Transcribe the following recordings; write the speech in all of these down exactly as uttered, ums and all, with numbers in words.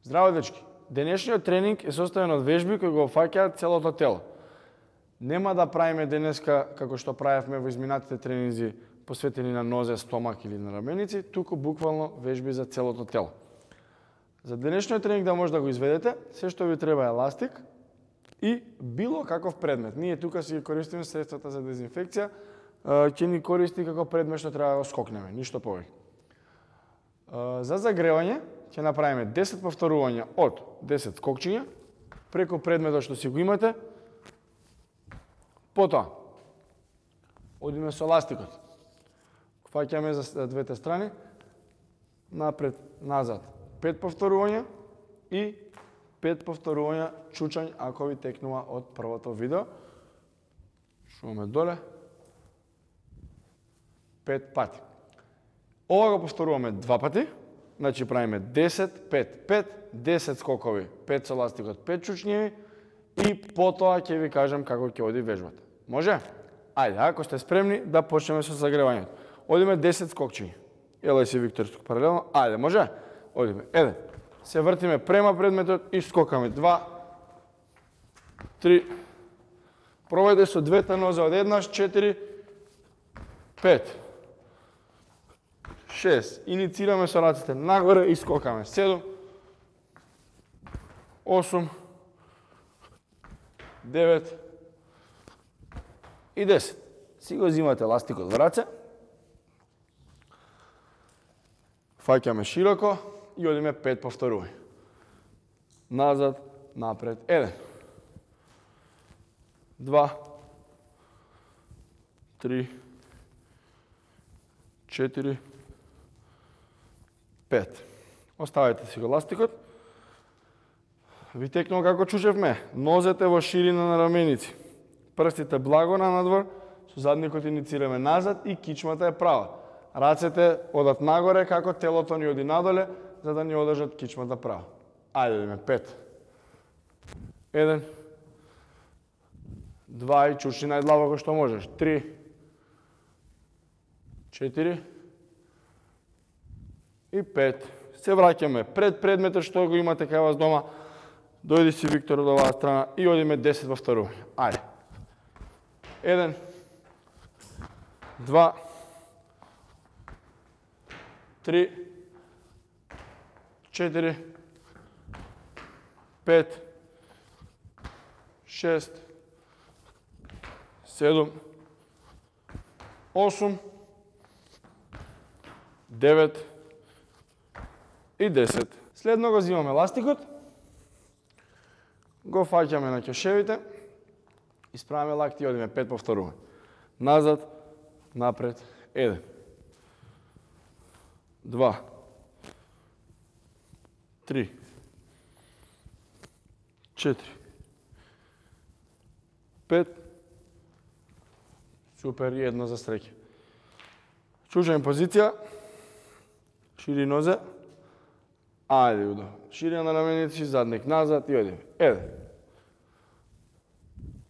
Здраво, дечки! Денешниот тренинг е составен од вежби кои го опфаќаат целото тело. Нема да правиме денеска како што правевме во изминатите тренинзи посветени на нозе, стомак или на раменици, туку буквално вежби за целото тело. За денешниот тренинг да може да го изведете, се што ви треба е еластик и било каков предмет. Ние тука си ги користиме средствата за дезинфекција, ќе ни користи како предмет што треба да го скокнеме, ништо повеќе. За загревање ќе направиме десет повторувања од десет скокчиња преку предметот што си го имате. Потоа одиме со еластикот. Фаќаме за двете страни, напред, назад, пет повторувања и пет повторувања чучањ ако ви текнува од првото видео. Шуваме доле. пет пати. Ова го повторуваме два пати, значи правиме десет, пет, пет, десет скокови, пет со еластикот, пет чучњеви и потоа ќе ви кажам како ќе оди вежбата. Може? Ајде, ако сте спремни да почнеме со загревањето. Одиме десет скокчиња. Елај си, Виктор, тук паралелно. Ајде, може? Одиме. еден. Се вртиме према предметот и скокаме. два, три. Пробајте со двете нозе од еднаш. четири, пет. шест. Иницираме со рацете нагоре и скокаме. седум, осум, девет и десет. Си го взимате еластикот во раце. Фаќаме широко и одиме пет повторувања. Назад, напред, еден. два, три, четири, пет. Оставете си го еластикот. Ви текнува како чучевме. Нозете во ширина на раменици. Прстите благо на надвор, со задникот иницираме назад и кичмата е права. Рацете одат нагоре како телото ни оди надоле, за да ни одржат кичмата права. Ајде идеме пет. еден. два и чучни најдлабоко што можеш. три. четири. И пет. Се враќаме пред предметот што го имате кај вас дома. Дојди си, Виктор, од оваа страна и одиме десет повторувања. Ајде. еден. два. три. четири. пет. шест. седум. осум. девет. И десет. Следно го взимаме еластикот. Го фаќаме на ќешевите. Исправаме лакти и одиме пет повторувања. Назад, напред, еден. два. три. четири. пет. Супер, и едно за стреќа. Чучање позиција. Шири нозе. Ајде, удо. Ширина на раменици, задник назад и одиме. еден.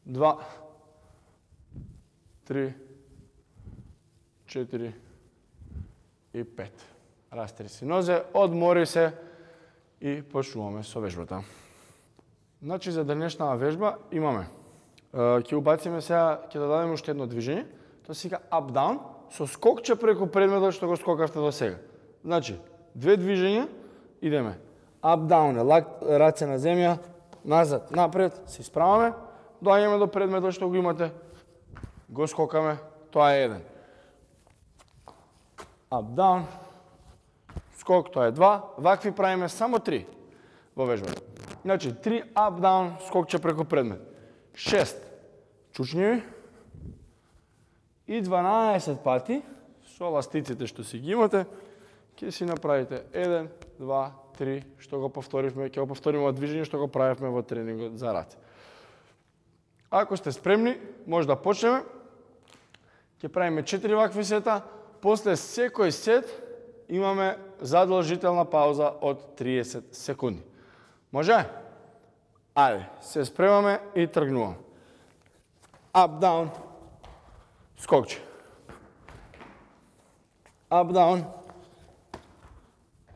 два. три. четири. И пет. Растри си нозе, одмори се и почнуваме со вежбата. Значи, за денешната вежба имаме. Ќе убациме сега, ќе додадеме уште едно движење. Тоа се вика up-down, со скокче преку предметот што го скокавте до сега. Значи, две движења, идеме. Up-down е раце на земја, назад, напред, се исправаме, доаѓаме до предметот што го имате, го скокаме, тоа е еден. Up-down, скок, тоа е два, вакви правиме само три во вежбата. Значи, три up-down, скокче преку предмет. шест чучњеви и дванаесет пати со еластиците што си ги имате, ќе си направите еден, два, три, што го повторивме, ќе го повториме од движење што го правевме во тренингот за раце. Ако сте спремни, може да почнеме. Ќе правиме четири вакви сета, после секој сет имаме задолжителна пауза од триесет секунди. Може? Ајде, се спремаме и тргнуваме. Up, down, скокче. Up, down,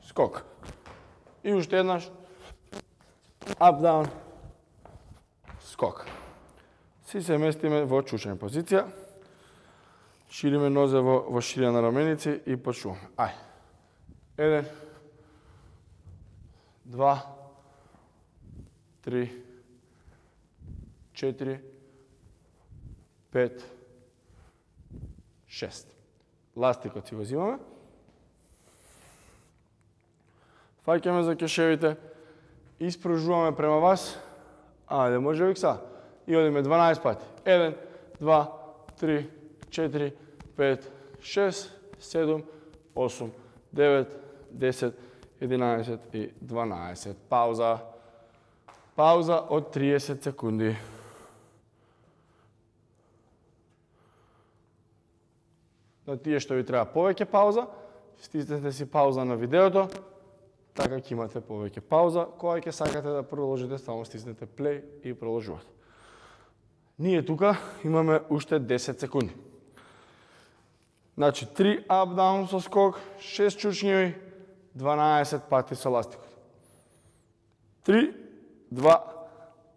скок. И уште еднаш. up, down, скок. Си се местиме во чучна позиција. Шириме нозе во, во ширина на раменици и почнуваме. Ај. Еден, два, три, четири, пет, шест. Ластикот си го зимаме. Фаќаме за кешевите, испружуваме према вас. Ајде, може викса. И одиме дванаесет пати. Еден, два, три, четири, пет, шест, седум, осум, девет, десет, единаесет и дванаесет. Пауза. Пауза од триесет секунди. На тие што ви треба повеќе пауза, стиснете си пауза на видеото, така ќе имате повеќе пауза. Кога ќе сакате да продолжите, само стиснете плей и продолжувате. Ние тука имаме уште десет секунди. Значи, три up-down со скок, шест чучњеви, дванаесет пати со ластикот. три, два,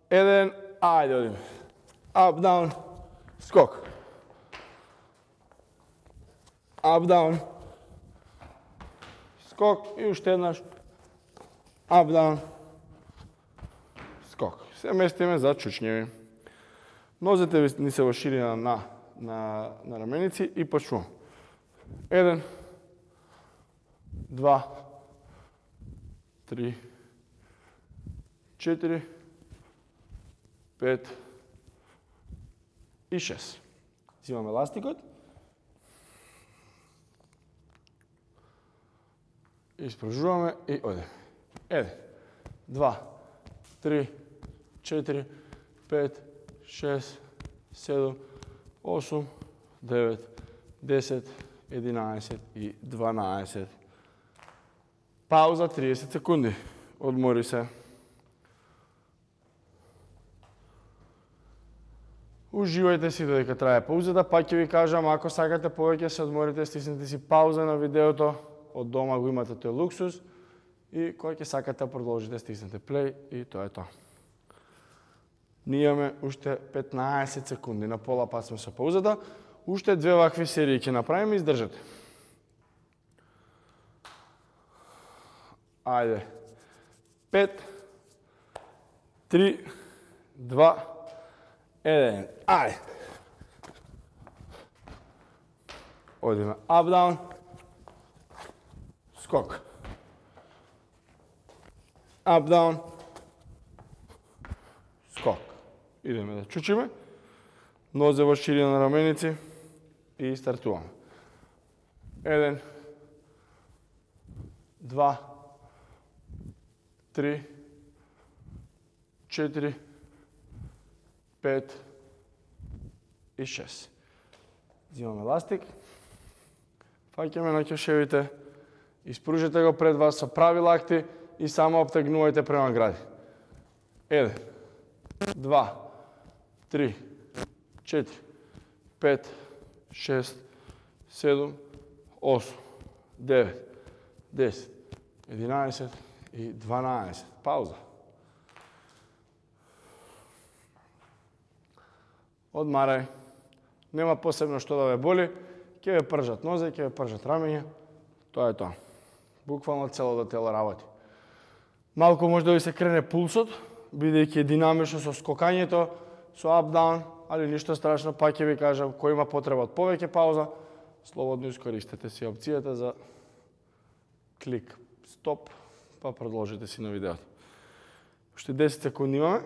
еден, ајде одиме. Up-down, скок. Up-down, скок и уште еднаш. Up-down, скок. Се местиме за чучњеви. Нозете ви ни се во ширина на, на, на раменици и почнуваме. Еден, два, три, четири, пет и шест. Зимаме ластикот. Испружуваме и одеме. Еден, два, три, четири, пет, шест, седум, осум, девет, десет, единаесет и дванаесет. Пауза триесет секунди. Одмори се. Уживајте си додека трае паузата, па ќе ви кажам, ако сакате повеќе се одморите, стиснете си пауза на видеото, од дома го имате тој луксус и кој ќе сакате да продолжите, стиснете плей и тоа е тоа. Ние имаме уште петнаесет секунди, на пола пат сме со паузата, уште две вакви серии ќе направиме и издржате. Ајде. пет, три, два, еден. Ајде. Одиме up-down. Скок. Up-down. Скок. Идеме да чучиме. Нозе во ширина на раменици и стартуваме. Еден, два, три, четири, пет и шест. Зимаме ластик. Фаќаме на ќешевите. Испружете го пред вас со прави лакти и само обтегнувајте према гради. Еден, два, три, четири, пет, шест, седум, осум, девет, десет, единаесет и дванаесет. Пауза. Одмарај. Нема посебно што да ве боли. Ќе ве пржат нозе, ќе ве пржат рамења. Тоа е тоа. Буквално целото тело работи. Малку може да ви се крене пулсот, бидејќи е динамично со скокањето, со up-down, али ништо страшно, па ќе ви кажам, кој има потреба од повеќе пауза, слободно искористете си опцијата за клик стоп, па продолжите си на видеото. Уште десет секунди имаме.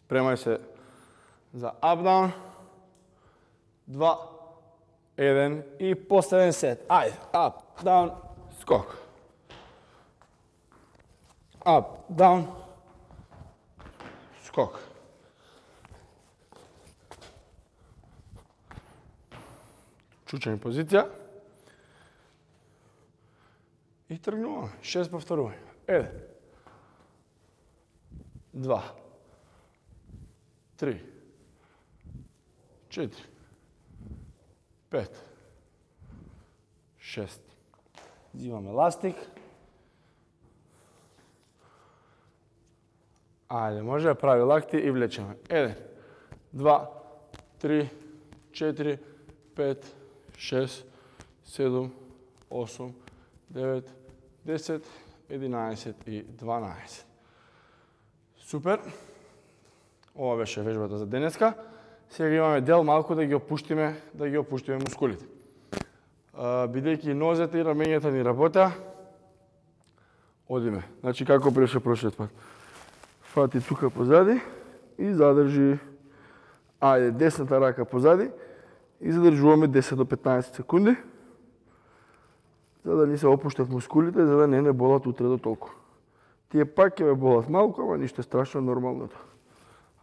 Спремај се за up-down. Два, еден и последен сет. Ајде, up, down, скок. Up, down, скок. Чучање позиција. И тргнуваме. Шест повторување. Еден. Два. Три. Четири. Пет. Шест. Зимаме ластик. Ајде, може да прави лакти и влечеме. Еден, два, три, четири, пет, шест, седум, осум, девет, десет, единаесет и дванаесет. Супер. Ова беше вежбата за денеска. Сега имаме дел малку да ги опуштиме, да ги опуштиме мускулите. Бидејќи нозете и рамењата ни работа, одиме. Значи како беше прошлиот пат. Фати тука позади и задржи, ајде, десната рака позади и задржуваме десет до петнаесет секунди, за да ни се опуштат мускулите, за да не не болат утре до толку. Тие пак ќе ве болат малку, ама ништо страшно, нормалното.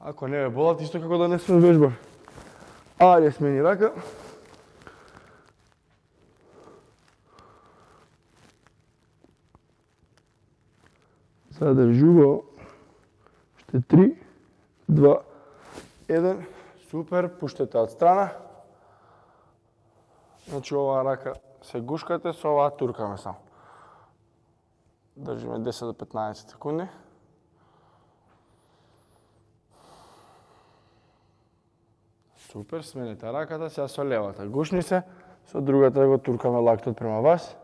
Ако не ве болат, исто како да не сме вежбали. Ајде, смени рака. Задржува. Уште три, два, еден. Супер, пуштете од страна. Значи оваа рака се гушкате, со оваа туркаме само. Држиме десет до петнаесет секунди. Супер, смените раката, сега со левата гушни се, со другата го туркаме лактот према вас.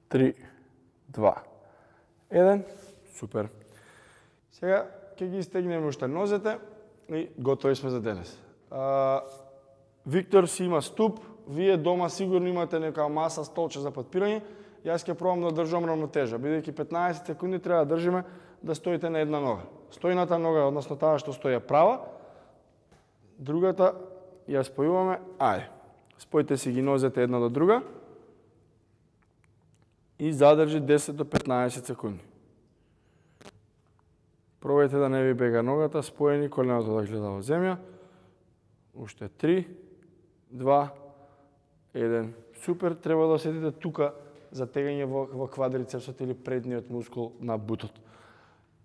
Три, два, еден, супер. Сега ќе ги стегнеме уште нозете и готови сме за денес. А, Виктор си има ступ, вие дома сигурно имате нека маса, столче за подпирање. Јас ќе пробам да држам равнотежа, бидејќи петнаесет секунди треба да држиме да стоите на една нога. Стојната нога, односно таа што стои е права, другата ја спојуваме, ајде. Спојте си ги нозете една до друга и задржи десет до петнаесет секунди. Пробајте да не ви бега ногата, споени, коленото да гледа во земја. Уште три, два, еден. Супер, треба да осетите тука затегање во, во квадрицепсот или предниот мускул на бутот.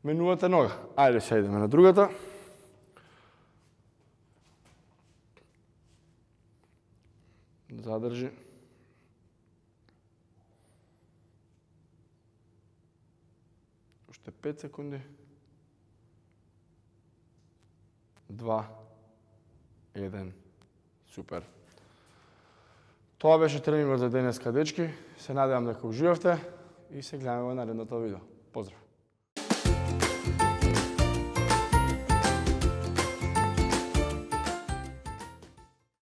Менувате нога. Ајде, се идеме на другата. Задржи. Уште пет секунди. Два, еден. Супер. Тоа беше тренingот за денеска, дечки. Се надевам дека уживавте и се гледаме во наредното видео. Поздрав!